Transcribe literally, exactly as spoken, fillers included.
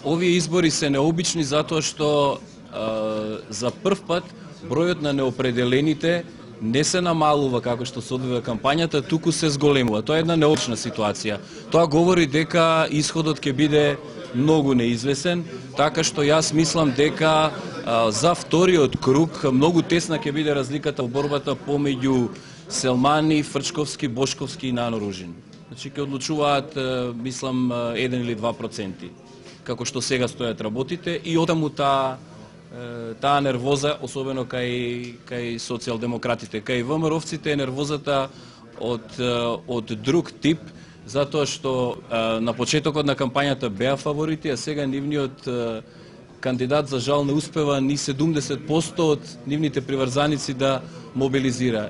Овие избори се необични затоа што а, за прв пат бројот на неопределените не се намалува како што се одвива кампањата, туку се зголемува. Тоа е една необична ситуација. Тоа говори дека исходот ќе биде многу неизвесен, така што јас мислам дека а, за вториот круг многу тесна ќе биде разликата во борбата помеѓу Селмани, Фрчковски, Бошковски и Нано Ружин. Значи ќе одлучуваат, мислам, еден или два проценти, како што сега стојат работите, и отаму таа таа нервоза, особено кај кај социјалдемократите, кај ВМРО-вците е нервозата од од друг тип, затоа што на почетокот на кампањата беа фаворити, а сега нивниот кандидат за жал не успева ни седумдесет проценти од нивните приврзаници да мобилизира.